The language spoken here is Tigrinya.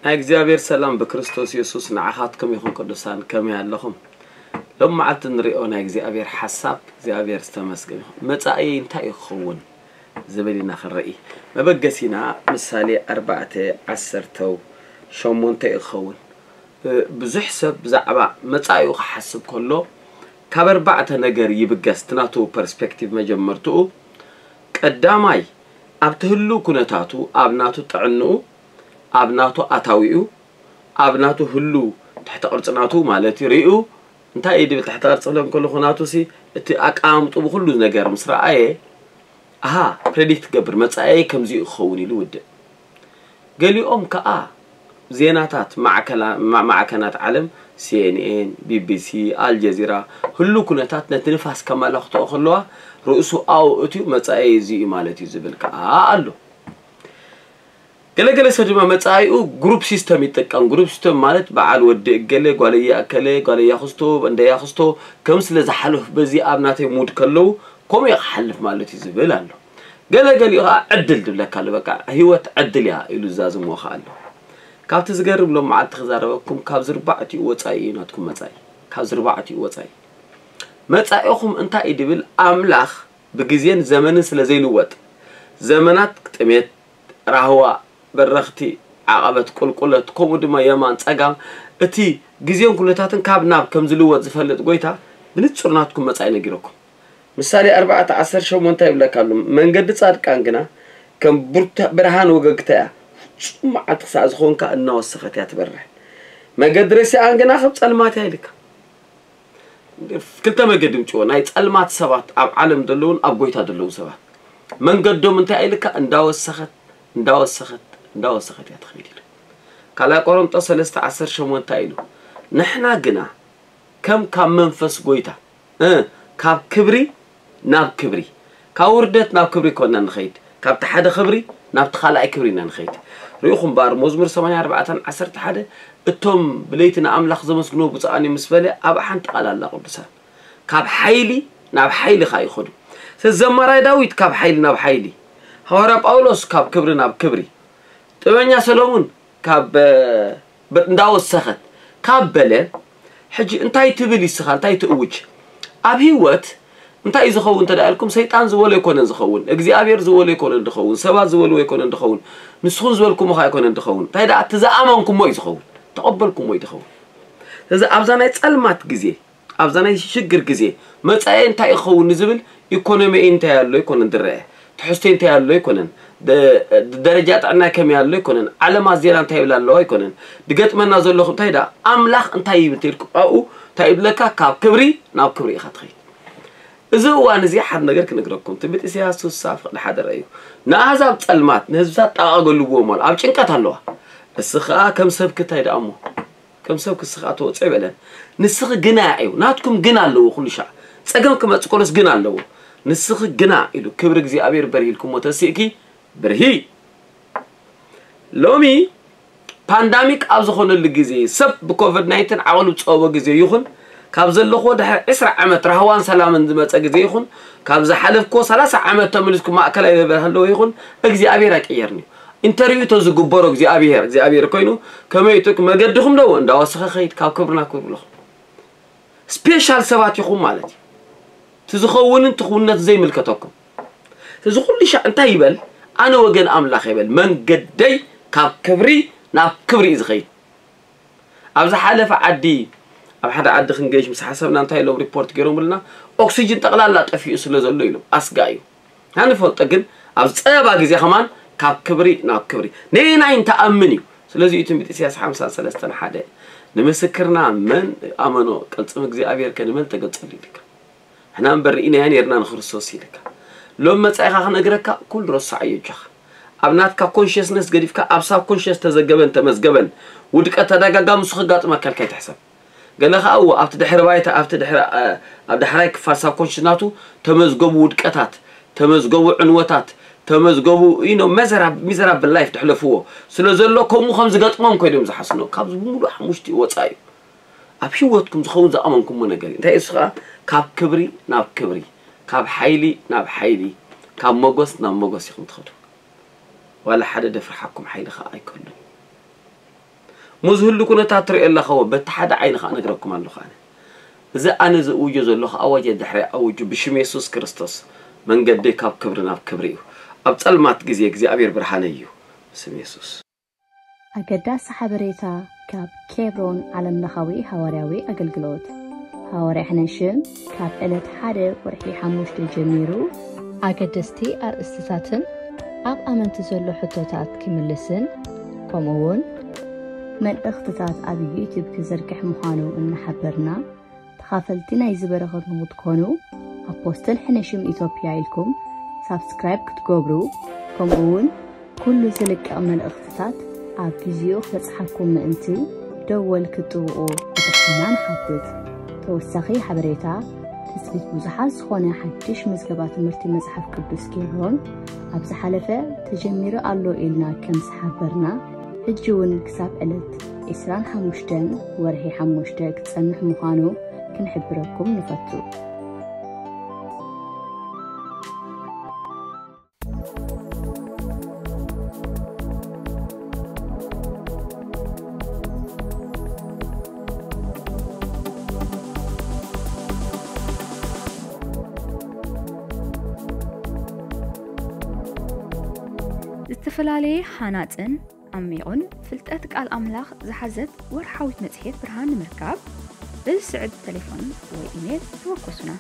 ናይ እግዚኣብሔር ሰላም ብክርስቶስ የሱስ ንዓኻትኩም ይኹን። ቅዱሳን፣ ከመይ ኣለኹም? ሎም መዓልቲ ንሪኦ ናይ እግዚኣብሔር ሓሳብ እግዚኣብሔር ዝተመስገን ይኹን። መጻኢ እንታይ እዩ ክኸውን ዝብል ኢና ክንርኢ። መበገሲና ምሳሌ ኣርባዕተ ዓሰርተው ሸሞንተ እዩ ክኸውን። እ፣ ብዙሕ ሰብ ብዛዕባ መጻኢኡ ክሓስብ ከሎ ካብ ኣርባዕተ ነገር ይብገስ። እቲ ናቱ ፐርስፔክቲቭ መጀመርትኡ ቀዳማይ ኣብቲ ህሉው ኩነታቱ፣ ኣብ ናቱ ጥዕንኡ፣ ኣብ ናቱ ኣታዊኡ፣ ኣብ ናቱ ህሉው ትሕተ ቅርጺ ናቱ ማለት እዩ። ሪኡ እንታይ እዩ ድብል ትሕተ ቅርጺ ክብለኩም ከለኹ ናቱ ሲ እቲ ኣቀማምጡ ብኩሉ ነገር ምስ ረኣየ ኣሃ ፕሬዲክት ገብር መጻኤ ከምዚ እዩ ክኸውን ኢሉ ውድእ። ገሊኦም ከኣ ዜናታት ማዕከላ- ማ- ማዕከናት ዓለም ሲኤንኤን፣ ቢቢሲ፣ ኣልጀዚራ ህሉ ኩነታት ነቲ ንፋስ ከመላኽትኦ ከለዋ ርእሱ ኣው እትዩ መጻኤ እዚ እዩ ማለት እዩ ዝብል ከኣ ኣሎ። ገለገለ ሰብ ድማ መጻኢኡ ግሩፕ ሲስተም ይጥቀም። ግሩፕ ሲስተም ማለት በዓል ወዲ እገሌ፣ ጓለያ እከሌ፣ ጓለያ ክስቶ፣ እንደያ ክስቶ ከም ስለ ዝሓልፍ በዚ ኣብ ናተይ ሙድ ከለዉ ከምኡ እየ ክሓልፍ ማለት እዩ ዝብል ኣሎ። ገለገሊኡ ከዓ ዕድል ድብለካ ኣሎ። በቃ ህይወት ዕድል እያ ኢሉ ዝዛዝሞ ከዓ ኣሎ። ካብቲ ዝገርም ሎም መዓልቲ ክዛረበኩም ካብ ዝርባዕቲኡ ወፃኢ እዩ ናትኩም መጻኢ። ካብ ዝርባዕቲኡ ወፃኢ መጻኢኹም እንታይ እዩ ድብል ኣምላኽ ብግዜን ዘመንን ስለ ዘይልወጥ ዘመናት ጥሜት ራህዋ፣ በረኽቲ፣ ዓቐበት፣ ቁልቁለት፣ ከምኡ ድማ የማን፣ ጸጋም፣ እቲ ግዜን ኩነታትን ካብ ናብ ከም ዝልወጥ ዝፈልጥ ጎይታ ብንጹር ናትኩም መጻኢ ነጊረኩም። ምሳሌ ኣርባዕተ ዓሰርተ ሸሞንተ ይብለካ ኣሎ፣ መንገዲ ጻድቃን ግና ከም ብርተ- ብርሃን ወገግታ እያ፣ ፍጹም መዓልቲ ክሳዕ ዝኾንካ እናወሰኸት እያ ትበርህ። መንገዲ ረሲኣን ግና ከም ጸልማት እያ ኢልካ። ክልተ መገዲ ምጭዎ ናይ ጸልማት ሰባት ኣብ ዓለም ዘለውን ኣብ ጎይታ ዘለውን ሰባት መንገዶም እንታይ ኢልካ እንዳወሰኸት እንዳወሰኸት እንዳወሰኸት እያ ትኸይድ ኢሉ። ካልኣይ ቆሮንጦስ ሰለስተ ዓሰርተ ሸሞንተ ኢሉ፣ ንሕና ግና ከም ካብ መንፈስ ጎይታ እ፣ ካብ ክብሪ ናብ ክብሪ፣ ካብ ውርደት ናብ ክብሪ ኮና ንኸይድ፣ ካብቲ ሓደ ክብሪ ናብቲ ካልኣይ ክብሪ ኢና ንኸይድ። ርኢኹም እምበኣር መዝሙር ሰማንያ ኣርባዕተ ዓሰርተ ሓደ፣ እቶም ብለይቲ ንኣምላኽ ዘመስግንዎ ብፁዓን እዮም ምስ በለ ኣብኣ ሓንቲ ቃል ኣላ ቅዱሳን፣ ካብ ሓይሊ ናብ ሓይሊ ኸዓ ይኸዱ። ስለዚ ዘማራይ ዳዊት ካብ ሓይሊ ናብ ሓይሊ፣ ሃዋርያ ጳውሎስ ካብ ክብሪ ናብ ክብሪ፣ ጥበበኛ ሰሎሙን ካብ እንዳወሰኸት ካብ በለ፣ ሕጂ እንታይ ትብል ይስኻ እንታይ ትእውጅ? ኣብ ህይወት እንታይ እዩ ዝኸውን እንተ ኢልኩም፣ ሰይጣን ዝበሎ ኣይኮነን ዝኸውን፣ እግዚኣብሔር ዝበሎ ኣይኮነን ዝኸውን፣ ሰባት ዝበልዎ ኣይኮነን ዝኸውን፣ ንስኹም ዝበልኩሞ ኸዓ ኣይኮነን ዝኸውን። እንታይ ደኣ እቲ ዝኣመንኩሞ እዩ ዝኸውን፣ ተቐበልኩሞ እዩ ዝኸውን። ስለዚ ኣብዛ ናይ ጸልማት ግዜ ኣብዛ ናይ ሽግር ግዜ መጻኤ እንታይ ክኸውን ንዝብል ኢኮኖሚ እንታይ ኣሎ ኣይኮነን ዝረአ፣ ትሕዝቶ እንታይ ኣሎ ኣይኮነን፣ ደ- ደረጃ ጥዕና ከመይ ኣሎ ኣይኮነን፣ ዓለማት ዜና እንታይ ይብል ኣለዋ ኣይኮነን፣ ድገጥመና ዘለኹም እንታይ ደኣ ኣምላኽ እንታይ ይብል ተልኩም ኣብኡ እንታይ ይብለካ፣ ካብ ክብሪ ናብ ክብሪ ኢኻ ትኸይድ። እዚ እዋን እዚ ሓደ ነገር ክነግረኩም፣ ትንቢት ኢሳያስ ስሳ ፍቕዲ ሓደ ረእዩ፣ ንኣህዛብ ጸልማት ንህዝብታት ጣቓ ገልብዎም ኣሎ፣ ኣብ ጭንቀት ኣለዋ። እስ ኸኣ ከም ሰብኪ እንታይ ደኣ እሞ ከም ሰብ ክስኻ ተወፅኦ ይበለን። ንስኺ ግና እዩ ናትኩም ግን ኣለዎ ኩሉ ሻዕ ጸገም ክመጽእ ኮሎስ ግን ኣለዎ። ንስኺ ግና ኢሉ ክብሪ እግዚኣብሔር በርሂልኩሞ ተሲእኪ ብርሂ። ሎሚ ፓንዳሚክ ኣብ ዝኾነሉ ግዜ ሰብ ብኮቪድ ናይንቲን ዓቕሉ ዝጸበቦ ግዜ ይኹን ካብ ዘለኹዎ ድሕሪ ዕስራ ዓመት ራህዋን ሰላምን ዝመጸ ግዜ ይኹን ካብ ዝሓለፍኩዎ ሰላሳ ዓመት ተመሊስኩም ማእከላይ በበል ኣለዎ ይኹን እግዚኣብሔር ኣይቀየርን እዩ። ኢንተርቪው ተዝግበሮ እግዚኣብሔር እግዚኣብሔር ኮይኑ ከመይ ትክ መገድኹም ደው እንዳወሰኸ ኸይድ ካብ ክብርና ክብርለኹም ስፔሻል ሰባት ኢኹም ማለት እዩ። ትዝኸውንን ትኽውነት ዘይምልከተኩም እዚ ኩሉ ሻዕ እንታይ ይበል ኣነ ወገን ኣምላኽ ይበል መንገደይ ካብ ክብሪ ናብ ክብሪ እዩ ዝኸይድ። ኣብ ዝሓለፈ ዓዲ ኣብ ሓደ ዓዲ ክንገይሽ ምስ ሓሰብና እንታይ ኢሎም ሪፖርት ገይሮምልና ኦክሲጅን ጠቕላላ ጠፊኡ ስለ ዘሎ ኢሎም ኣስጋ እዩ። ንፈልጦ ግን ኣብ ዝፀበባ ግዜ ከማን ካብ ክብሪ ናብ ክብሪ ነየናይ እንተኣምን እዩ። ስለዚ እዩ ትንቢት ኢሳያስ ሓምሳ ሰለስተን ሓደ ንምስክርና መን ኣመኖ ቅልፅም እግዚኣብሔር ከ ንመን ተገልፀሉ ኢልካ ንሕና እምበር ርኢናዮ ነርና ንክርስቶስ ኢልካ ሎም መፃኢኻ ክነግረካ ኩሉ ረሳዓዮ እጆኻ ኣብ ናትካ ኮንሽስነስ ገዲፍካ ኣብ ሳብ ኮንሽስ ተዘገበን ተመዝገበን ውድቀት ተደጋጋሚ ንሱ ከጋጥመካ ኢልካ ይትሕሰብ። ገለ ከዓ እዎ ኣብቲ ድሕሪ ባይታ ኣብቲ ድሕሪ ኣብ ዳሕራይ ክፋል ሳብ ኮንሽስ ናቱ ተመዝገቡ ውድቀታት ተመዝገቡ ዕንወታት ተመዝገቡ ኢኖ መዘራብ ሚዘራብል ላይፍ ተሕለፍዎ ስለ ዘሎ ከምኡ ከም ዝገጥሞም ኮይኖም ዝሓስኖ ካብዚ ብምሉእ ሓሙሽቲ ወፃ እዩ። ኣብ ህይወትኩም ዝኸውን ዝኣመንኩምዎ ነገር እዩ። እንታይ እሱ ከዓ ካብ ክብሪ ናብ ክብሪ፣ ካብ ሓይሊ ናብ ሓይሊ፣ ካብ መጎስ ናብ መጎስ ኢኹም ትኸዱ። ዋላ ሓደ ደፍርሓኩም ሓይሊ ከዓ ኣይከሉን። ሙዝ ህሉ ኩነታት ትሪኦ ኣለኸዎ በቲ ሓደ ዓይኒ ከዓ ነግረኩም ኣለኹ ኣነ። እዚ ኣነ ዝእውጆ ዘለኹ ኣዋጅ ድሕሪ ኣውጁ ብሽም የሱስ ክርስቶስ መንገዲ ካብ ክብሪ ናብ ክብሪ እዩ። ኣብ ጸልማት ግዜ እግዚኣብሔር ብርሃነ እዩ። ብስም የሱስ። ኣገዳሲ ሓበሬታ ካብ ኬብሮን ዓለምለኻዊ ሃዋርያዊ ኣገልግሎት። ሃዋርያ ሕነሽም ካብ ዕለት ሓደ ወርሒ ሓሙሽተ ጀሚሩ ኣገደስቲ ኣርእስትታትን ኣብ ኣመንቲ ዘሎ ሕቶታት ክምልስን ከምኡ እውን መልእኽትታት ኣብ ዩቲዩብ ክዝርግሕ ምዃኑ እናሓበርና ተኻፈልቲ ናይዚ በረኸት ንክትኮኑ ኣፖስትል ሕነሽም ኢትዮጵያ ኢልኩም ሳብስክራይብ ክትገብሩ ከምኡ እውን ኩሉ ዝልቀቕ መልእኽትታት ኣብ ግዚኡ ክበጽሓኩም ምእንቲ ደወል ክትጥውቑ ብትሕትና ንሓትት። ተወሳኺ ሓበሬታ ትጽቢት ብዙሓት ዝኾነ ሓድሽ ምዝገባ ትምህርቲ መጽሓፍ ቅዱስ ኬብሮን ኣብ ዝሓለፈ ተጀሚሩ ኣሎ ኢልና ከም ዝሓበርና ሕጂ እውን ክሳብ ዕለት ዕስራን ሓሙሽተን ወርሒ ሓሙሽተ ክጸንሕ ምዃኑ ክንሕብረኩም ንፈቱ። ዝተፈላለየ ሃናጽን ዓሚቑን ፍልጠት ቃል ኣምላኽ ዝሓዘት ወርሓዊት መጽሔት ብርሃን ንምርካብ በዚ ስዕብ ተሌፎን ወይ ኢሜል ተወከሱና።